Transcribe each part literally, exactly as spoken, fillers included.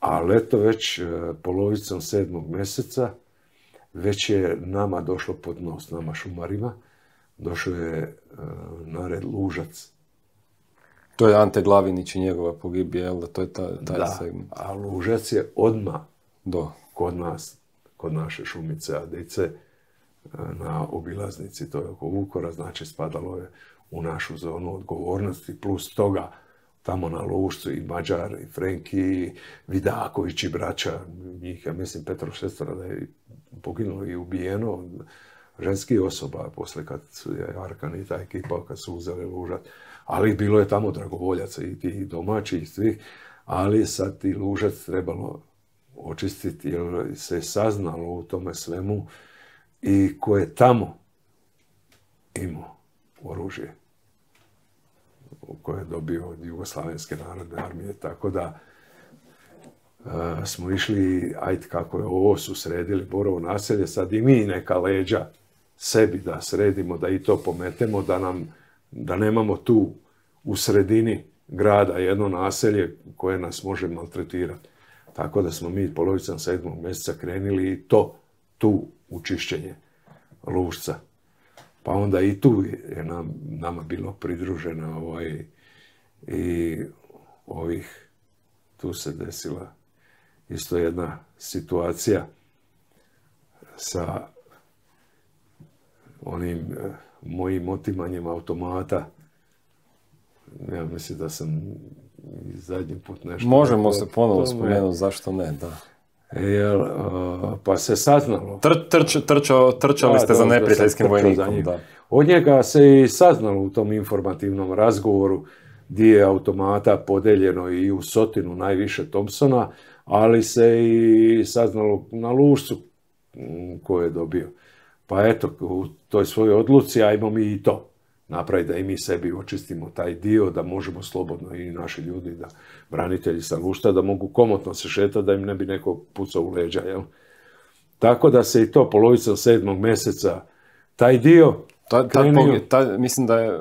ali eto već polovicom sedmog mjeseca već je nama došlo pod nos, nama šumarima, došao je na red Lužac. To je Ante Glavinić i njegova pogibija, jel da? To je taj, taj da, segment. a Lužac je odmah Do. kod nas, kod naše Šumice Adice, na obilaznici, to je oko Vukora, znači spadalo je u našu zonu odgovornosti, plus toga tamo na Lužcu i Mađar, i Frenki, i Vidaković i braća, njih, ja mislim, Petro Šestora da je poginulo i ubijeno, ženskih osoba, posle kad je Arkan i ta ekipa, kad su uzeli Lužac, ali bilo je tamo dragovoljaca i tih domaćih i svih, ali sad ti Lužac trebalo očistiti, jer se je saznalo u tome svemu i ko je tamo imao oružje koje je dobio od Jugoslavenske narodne armije, tako da uh, smo išli, ajde kako je ovo, su sredili Borovo naselje, sad i mi neka leđa sebi da sredimo, da i to pometemo, da nam, da nemamo tu u sredini grada jedno naselje koje nas može maltretirati. Tako da smo mi polovicom sedmog mjeseca krenili i to, tu u čišćenje Lužca. Pa onda i tu je nam, nama bilo pridruženo ovaj, i ovih, tu se desila isto jedna situacija sa onim eh, mojim otimanjem automata. Ja mislim da sam i zadnji put nešto... Možemo to, se ponovo spomenuti, zašto ne, da. Jel, uh, pa se saznalo. Tr, trč, trčao, trčali da, ste za neprijateljskim vojnikom, da. Od njega se i saznalo u tom informativnom razgovoru gdje je automata podeljeno i u Sotinu najviše Thompsona, ali se i saznalo na Lužcu ko je dobio. Pa eto, u toj svojoj odluci ajmo mi i to napraviti, da i mi sebi očistimo taj dio, da možemo slobodno i naši ljudi, da branitelji sa Lužca, da mogu komotno se šetati, da im ne bi neko pucao u leđa, jel? Tako da se i to polovicom sedmog mjeseca taj dio ta, ta, krenio... ta, mislim da je,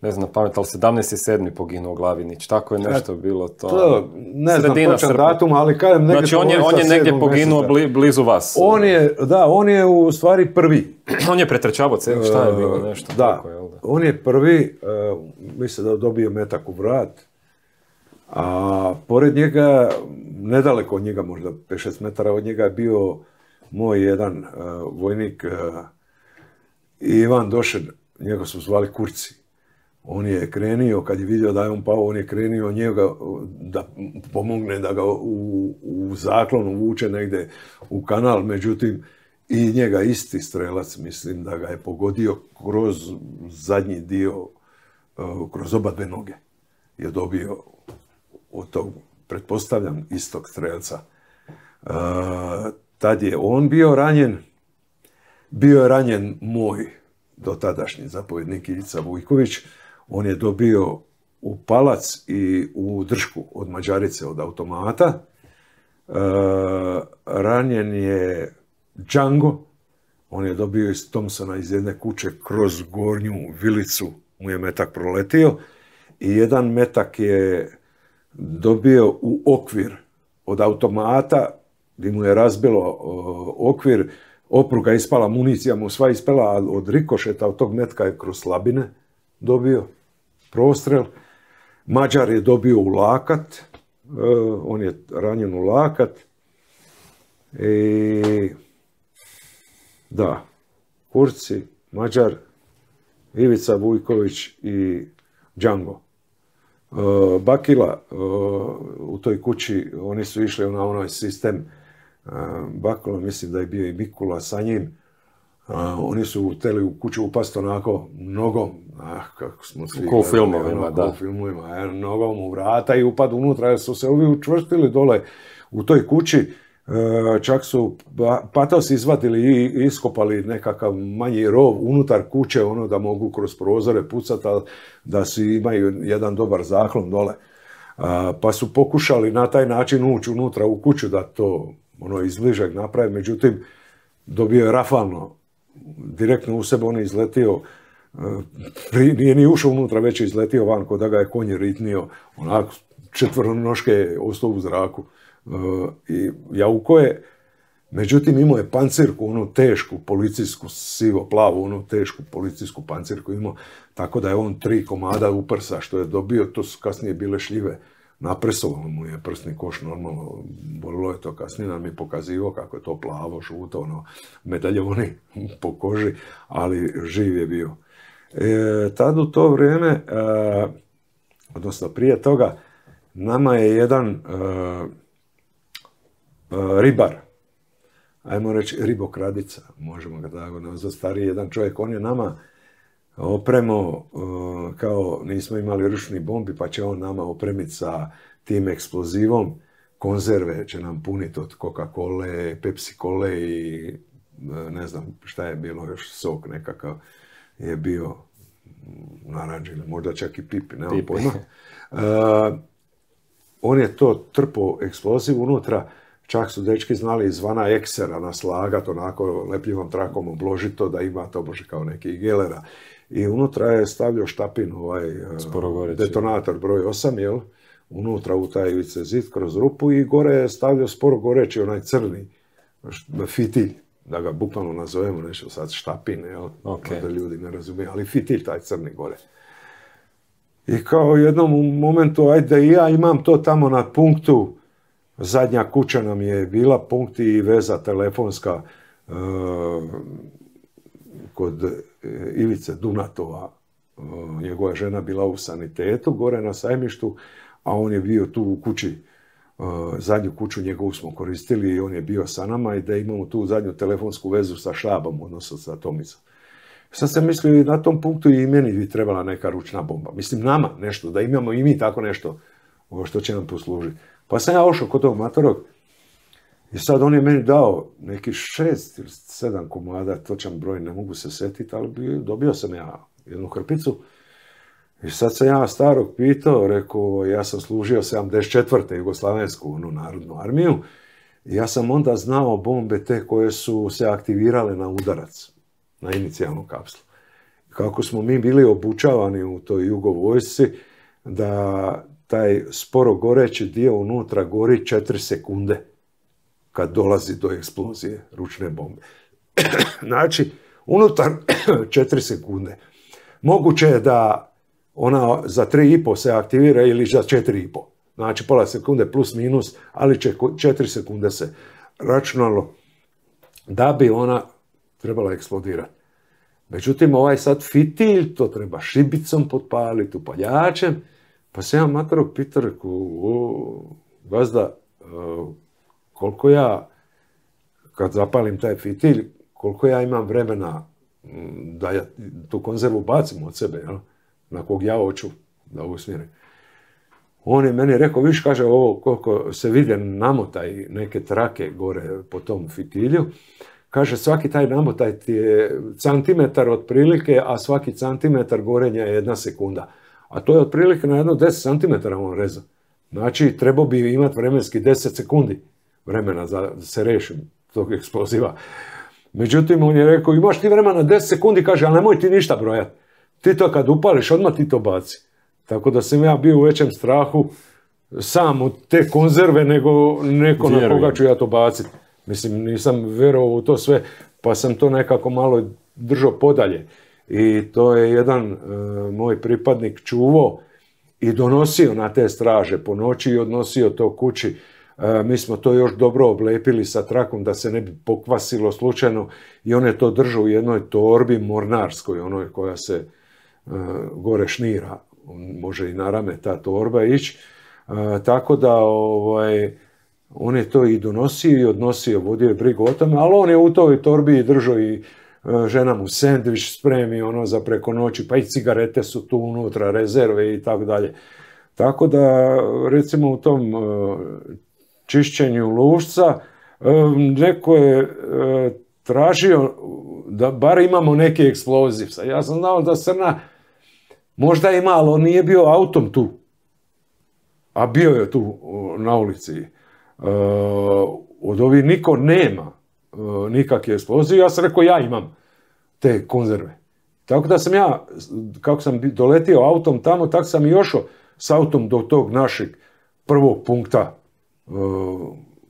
ne znam na pamet, ali sedamnaesti sedmi poginuo Glavinić, tako je nešto e, bilo to. to ne znam točan datum, ali kažem negdje... Znači on je, on je negdje poginuo bli, blizu vas. On je, da, on je u stvari prvi. On je pretrčavao celu, šta je bilo nešto? Da, tako, jel da? On je prvi, uh, mislim da dobio metak u vrat, a pored njega, nedaleko od njega, možda pet šest metara od njega, je bio moj jedan uh, vojnik, uh, Ivan Došen, njega su zvali Kurci. On je krenio, kad je vidio da je on pao, on je krenio njega da pomogne da ga u, u zaklonu vuče negdje u kanal, međutim, i njega isti strelac, mislim da ga je pogodio kroz zadnji dio, kroz oba dve noge. Je dobio od tog, pretpostavljam, istog strelca. Uh, tad je on bio ranjen, bio je ranjen moj dotadašnji zapovjednik Ivica Vujković. On je dobio u palac i u dršku od Mađarice, od automata. Uh, ranjen je Django, on je dobio iz Thompsona iz jedne kuće kroz gornju vilicu, mu je metak proletio i jedan metak je dobio u okvir od automata, gdje mu je razbilo uh, okvir, opruga ispala, municija mu sva ispala, a od rikošeta od tog metka je kroz slabine dobio prostrel. Mađar je dobio u lakat, uh, on je ranjen u lakat i da, Kurci, Mađar, Ivica Vujković i Django. Uh, Bakila uh, u toj kući, oni su išli na onaj sistem uh, Bakula, mislim da je bio i Mikula sa njim. Uh, oni su htjeli u kuću upast onako nogom, ah, kako smo svi... Ko u filmovima, da. Ko u filmovima, eh, nogom u vrata i upad unutra, jer su se ovi učvrstili dole u toj kući. Čak su patosi izvadili i iskopali nekakav manji rov unutar kuće, ono da mogu kroz prozore pucati, da si imaju jedan dobar zaklon dole. Pa su pokušali na taj način ući unutra u kuću da to ono izbližak napravi, međutim dobio je rafalno, direktno u sebe on je izletio, nije ni ušao unutra, već je izletio van, ko da ga je konj ritnio, onako četvronoške ostao u zraku. I jauko je, međutim imao je pancirku, onu tešku policijsku, sivo-plavu, onu tešku policijsku pancirku imao, tako da je on tri komada uprsa što je dobio, to su kasnije bile šljive. Napresovalo mu je prsni koš normalno, bolilo je to kasnije, nam je pokazivao kako je to plavo, žuto, ono, medaljoni po koži, ali živ je bio. E, tad u to vrijeme, e, odnosno prije toga, nama je jedan e, e, ribar, ajmo reći ribokradica, možemo ga tako nazvati, stariji jedan čovjek, on je nama opremo, kao nismo imali ručni bombi, pa će on nama opremiti sa tim eksplozivom, konzerve će nam puniti od Coca-Cole, Pepsi-Cole i ne znam šta je bilo, još sok nekakav je bio naranđen, možda čak i pipi, nemam pojma. Uh, on je to trpo eksploziv unutra, čak su dečki znali izvana eksera naslagat, onako lepljivom trakom obložiti to da ima to bože kao neki gelera. I unutra je stavljao štapin, ovaj detonator broj osam, jel? Unutra u taj ivice zid kroz rupu i gore je stavljao sporo goreći onaj crni fitilj, da ga bukvalno nazovemo, nešto sad štapin, jel? Okay. Da ljudi ne razumiju, ali fitilj taj crni gore. I kao u jednom momentu, ajde i ja imam to tamo na punktu, zadnja kuća nam je bila, punkt i veza telefonska uh, kod Ivice Dunatova, njegova žena bila u sanitetu gore na Sajmištu, a on je bio tu u kući, zadnju kuću njegovu smo koristili i on je bio sa nama i da imamo tu zadnju telefonsku vezu sa štabom, odnosno sa Tomicom. Sad sam mislio i na tom punktu i meni bi trebala neka ručna bomba. Mislim nama nešto, da imamo i mi tako nešto što će nam poslužiti. Pa sam ja ošao kod tog matorog i sad on je meni dao neki šest ili sedam komada, točan broj, ne mogu se setiti, ali dobio sam ja jednu hrpicu. I sad sam ja starog pitao, rekao, ja sam služio sedamdeset četvrte Jugoslavensku, onu narodnu armiju, i ja sam onda znao bombe te koje su se aktivirale na udarac, na inicijalnu kapslu. Kako smo mi bili obučavani u toj jugovojsci, da taj sporo goreći dio unutra gori četiri sekunde kad dolazi do eksplozije ručne bombe. Znači, unutar četiri sekunde. Moguće je da ona za tri i pol se aktivira ili za četiri i pol. Znači, pola sekunde plus minus, ali će četiri sekunde se računalo da bi ona trebala eksplodirati. Međutim, ovaj sad fitilj, to treba šibicom potpaliti, upaljačem, pa se ja matorog pitao, rekao, gazda, koliko ja, kad zapalim taj fitilj, koliko ja imam vremena da ja tu konzervu bacim od sebe, jel? Na kog ja hoću da usmjerim. On je meni rekao, viš, kaže, ovo koliko se vide namotaj neke trake gore po tom fitilju, kaže, svaki taj namotaj ti je centimetar otprilike, a svaki centimetar gorenja je jedna sekunda. A to je otprilike na jedno deset centimetara on reza. Znači, trebao bi imati vremenski deset sekundi vremena da se rešim tog eksploziva. Međutim, on je rekao, imaš ti vremena deset sekundi, kaže, ali nemoj ti ništa brojati. Ti to kad upališ, odmah ti to baci. Tako da sam ja bio u većem strahu sam od te konzerve, nego neko na koga ću ja to baciti. Mislim, nisam vjerovao u to sve, pa sam to nekako malo držao podalje. I to je jedan e, moj pripadnik čuvao i donosio na te straže po noći i odnosio to kući. E, mi smo to još dobro oblepili sa trakom da se ne bi pokvasilo slučajno i on je to držao u jednoj torbi mornarskoj, onoj koja se e, gore šnira. Može i na rame ta torba ići. E, tako da ovaj, on je to i donosio i odnosio, vodio je brigu o tome, ali on je u toj torbi držao i žena mu sendvič spremi ono za preko noći, pa i cigarete su tu unutra, rezerve i tako dalje. Tako da, recimo u tom čišćenju lušca, neko je tražio da bar imamo neki eksploziv. Ja sam znao da Srna možda ima, ali on nije bio autom tu, a bio je tu na ulici. Od ovih niko nema nikakve eksplozije, ja sam rekao ja imam te konzerve. Tako da sam ja, kako sam doletio autom tamo, tako sam i ošao s autom do tog našeg prvog punkta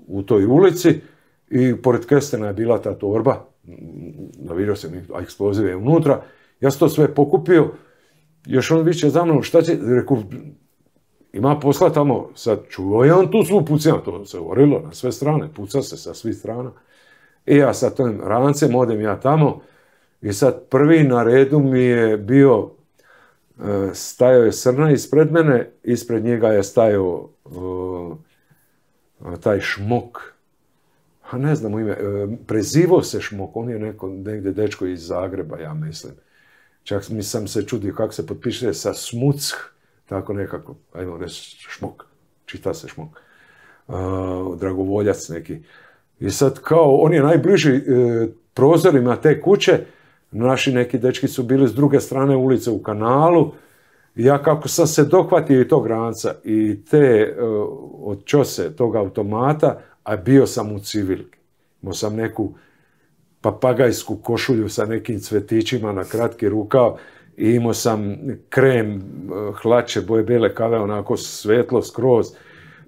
u toj ulici i pored kestena je bila ta torba, navidio sam, a eksploziv je unutra. Ja sam to sve pokupio, još on viče za mnom, šta će, reku, ima posla tamo, sad čuo je on tu svu pucima, to se orilo na sve strane, puca se sa svih strana. I ja sa tim rancem odem ja tamo i sad prvi na redu mi je bio, stajao je Srna ispred mene, ispred njega je stajao taj Šmok, a ne znam u ime, prezivo se Šmok, on je neko, negdje dečko iz Zagreba, ja mislim. Čak mi sam se čudio kako se potpiše sa Smuck, tako nekako, ajmo reći Šmok, čita se Šmok, uh, dragovoljac neki. I sad kao, on je najbliži e, prozorima te kuće, naši neki dečki su bili s druge strane ulice u kanalu, i ja kako sam se dohvatio i tog ranca i te e, od čose tog automata, a bio sam u civilki. Imao sam neku papagajsku košulju sa nekim cvetićima na kratki rukav i imao sam krem, hlače, boje bele kave, onako svetlo skroz.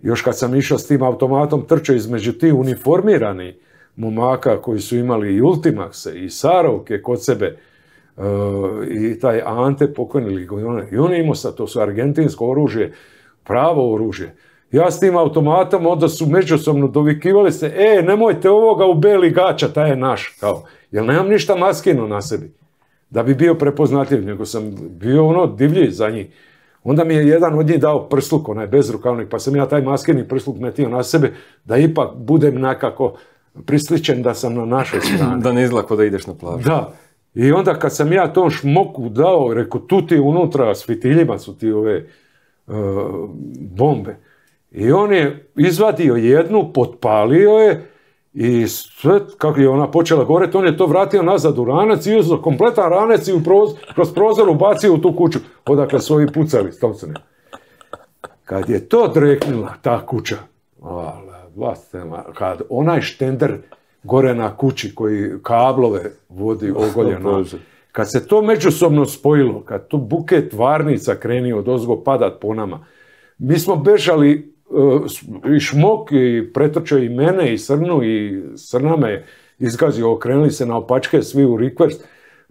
Još kad sam išao s tim automatom, trčao između tih uniformirani momaka koji su imali i Ultimaxe i Sarovke kod sebe, uh, i taj Ante pokojni Ligojone. I on imao sad, to su argentinsko oružje, pravo oružje. Ja s tim automatom onda su međusobno dovikivali se, e, nemojte ovoga u beli gača, taj je naš, kao, jer nemam ništa maskino na sebi, da bi bio prepoznatljiv, nego sam bio ono divlji za njih. Onda mi je jedan od njih dao prsluk, onaj bezrukavnik, pa sam ja taj maskeni prsluk metio na sebe, da ipak budem nekako prisličen da sam na našoj strani. Da ne izgleda da ideš na plažu. Da. I onda kad sam ja tom Šmoku dao, rekao, tu ti unutra s fitiljima su ti ove uh, bombe. I on je izvadio jednu, potpalio je i sve, kako je ona počela goreti, on je to vratio nazad u ranac i uzeo kompletan ranac i u proz, kroz prozor ubacio u tu kuću, odakle su ovi pucali. Kad je to dreknula, ta kuća, kad onaj štender gore na kući koji kablove vodi ogoljeno, kad se to međusobno spojilo, kad tu buket varnica krenio odozgo padat po nama, mi smo bežali, i Šmok i pretrčao i mene i Srnu i Srna me izgazio, okrenuli se na opačke svi u rikverc.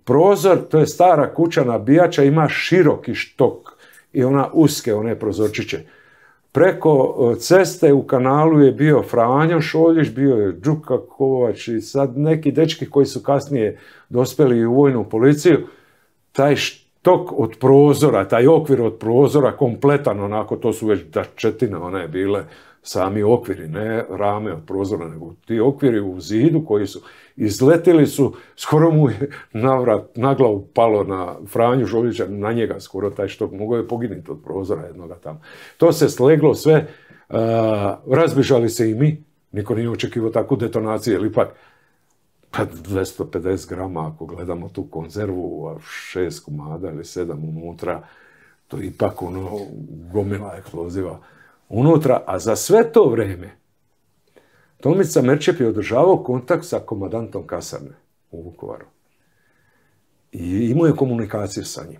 Prozor, to je stara kuća nabijača, ima široki štok i ona uske, one prozorčiće. Preko ceste u kanalu je bio Franjo Šoljić, bio je Đuka Kovač i sad neki dečki koji su kasnije dospeli u vojnu policiju. Taj štok od prozora, taj okvir od prozora, kompletan onako, to su već dačetine, one bile sami okviri, ne rame od prozora, nego ti okviri u zidu koji su izletili su, skoro mu je navrat, na glavu palo na Franju Šoljića, na njega skoro taj štok, mogao je poginuti od prozora jednoga tamo. To se sleglo sve, uh, razbižali se i mi, niko nije očekivao takvu detonaciju, jer ipak dvjesto pedeset grama, ako gledamo tu konzervu, šest komada ili sedam unutra, to je ipak ono gomila eksploziva unutra, a za sve to vrijeme Tomica Merčep je održavao kontakt sa komandantom kasarne u Vukovaru. I imao je komunikaciju sa njim.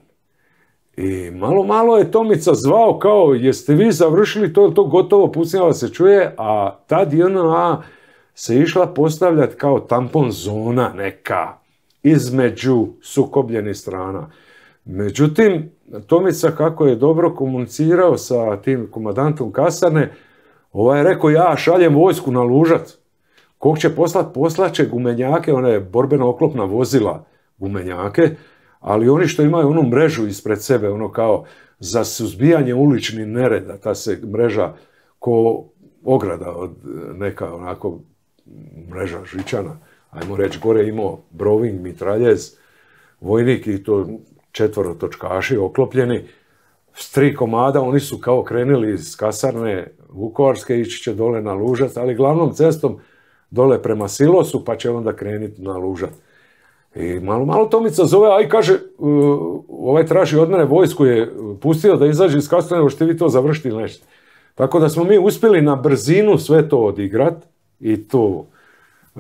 I malo, malo je Tomica zvao kao, jeste vi završili to, to gotovo, pucnjava se čuje, a tad J N A se išla postavljati kao tampon zona neka između sukobljenih strana. Međutim, Tomica, kako je dobro komunicirao sa tim komandantom kasarne, ovaj je rekao, ja šaljem vojsku na Lužac. Kog će poslat? Poslaće gumenjake, one borbeno-oklopna vozila gumenjake, ali oni što imaju onu mrežu ispred sebe, ono kao za suzbijanje uličnih nereda, ta se mreža ko ograda od neka onako mreža žičana, ajmo reći, gore imao Broving, mitraljez, vojnik i to četvorotočkaši oklopljeni, s tri komada, oni su kao krenuli iz kasarne Vukovarske, ići će dole na Lužac, ali glavnom cestom dole prema Silosu, pa će onda krenuti na Lužac. I malo, malo Tomica zove, aj kaže, uh, ovaj traži od mene vojsku, je pustio da izađe iz kasarne, hoćete vi to završiti ili nešto. Tako da smo mi uspjeli na brzinu sve to odigrat i to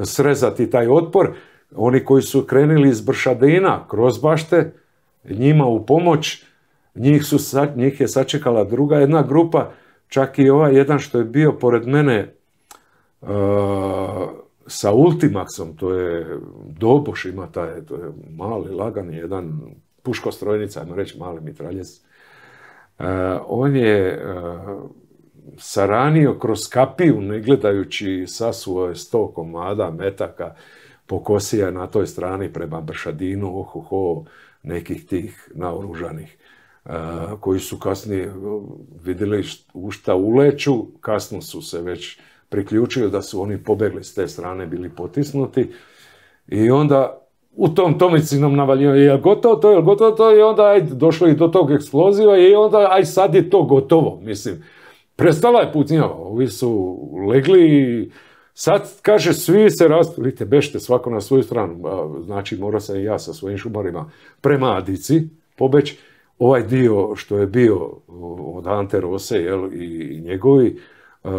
srezati taj otpor. Oni koji su krenuli iz Bršadina kroz bašte, njima u pomoć, njih, su, njih je sačekala druga jedna grupa, čak i ovaj jedan što je bio pored mene uh, sa Ultimaxom, to je Doboš ima taj, to je mali, lagani, jedan puškostrojnica, ajmo reći mali mitraljez. Uh, on je uh, saranio kroz kapiju, ne gledajući, sasuo je sto komada metaka, pokosio je na toj strani prema Bršadinu, ohoho, nekih tih naoružanih, uh, koji su kasnije vidjeli u šta uleću, kasno su se već priključili da su oni pobegli s te strane, bili potisnuti i onda u tom Tomicinom navaljivanju, je gotovo to, je gotovo to, i onda ajde, došlo i do tog eksploziva i onda aj sad je to gotovo, mislim. Prestala je pucnjava, ovi su legli i sad, kaže, svi se rastu, vidite, bežite svako na svoju stranu, znači morao sam i ja sa svojim šumarima prema Adici pobeći. Ovaj dio što je bio od Ante Rose, jel, i njegovi, uh,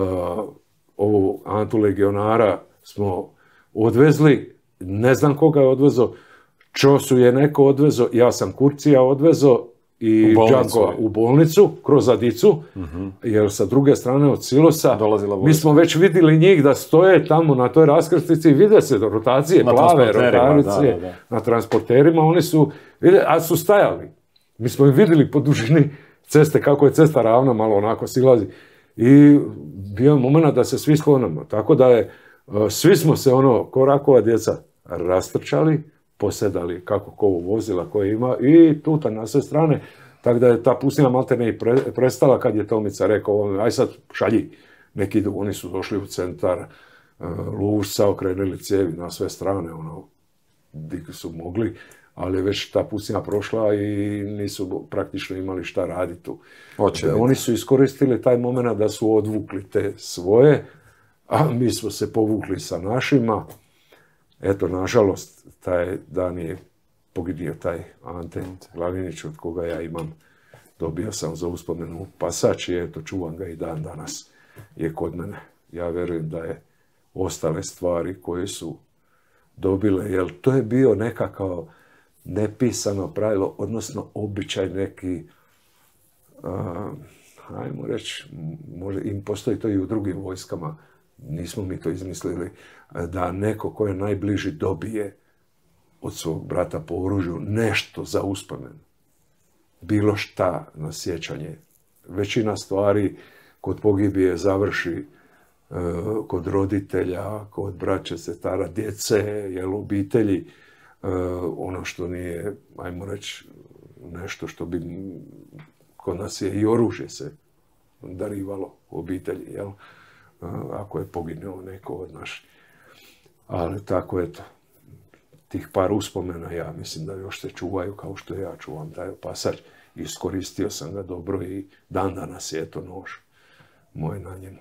ovu Antu legionara smo odvezli, ne znam koga je odvezo, Čosu je neko odvezo, ja sam Kurcija odvezo i Đankova u bolnicu, kroz Adicu, uh-huh. jer sa druge strane od silosa, mi smo već vidjeli njih da stoje tamo na toj raskrsnici i vide se rotacije, na plave rotacije, da, da, da. na transporterima, oni su, a su stajali. Mi smo ih vidjeli po dužini ceste, kako je cesta ravna, malo onako silazi. I bio je moment da se svi sklonamo. Tako da je, svi smo se ono, ko rakova djeca, rastrčali, posedali kako ko vozila koje ima i tuta na sve strane. Tako da je ta pustinja maltene i pre, prestala kad je Tomica rekao, aj sad šalji. Neki oni su došli u centar Lužca, okrenuli cijevi na sve strane, ono, gdje su mogli, ali već ta pustinja prošla i nisu praktično imali šta raditi tu. Oni su iskoristili taj moment da su odvukli te svoje, a mi smo se povukli sa našima. Eto, nažalost, taj dan je pogidio taj Ante Glavinić, od koga ja imam, dobio sam za uspomenu pasač i eto, čuvam ga i dan danas je kod mene. Ja vjerujem da je ostale stvari koje su dobile, jer to je bio nekakav nepisano pravilo, odnosno običaj neki, uh, ajmo reći, možda im postoji to i u drugim vojskama, nismo mi to izmislili, da neko ko je najbliži dobije od svog brata po oružju nešto za uspomen. Bilo šta na sjećanje. Većina stvari kod pogibije završi uh, kod roditelja, kod braće, sestara, djece, jel, obitelji. Uh, ono što nije, ajmo reći, nešto što bi, kod nas je i oružje se darivalo u obitelji, jel? Uh, ako je poginuo neko od naših. Ali tako, eto, tih par uspomena, ja mislim da još se čuvaju kao što ja čuvam taj pasač. Iskoristio sam ga dobro i dan danas je, eto, nož moj na njemu.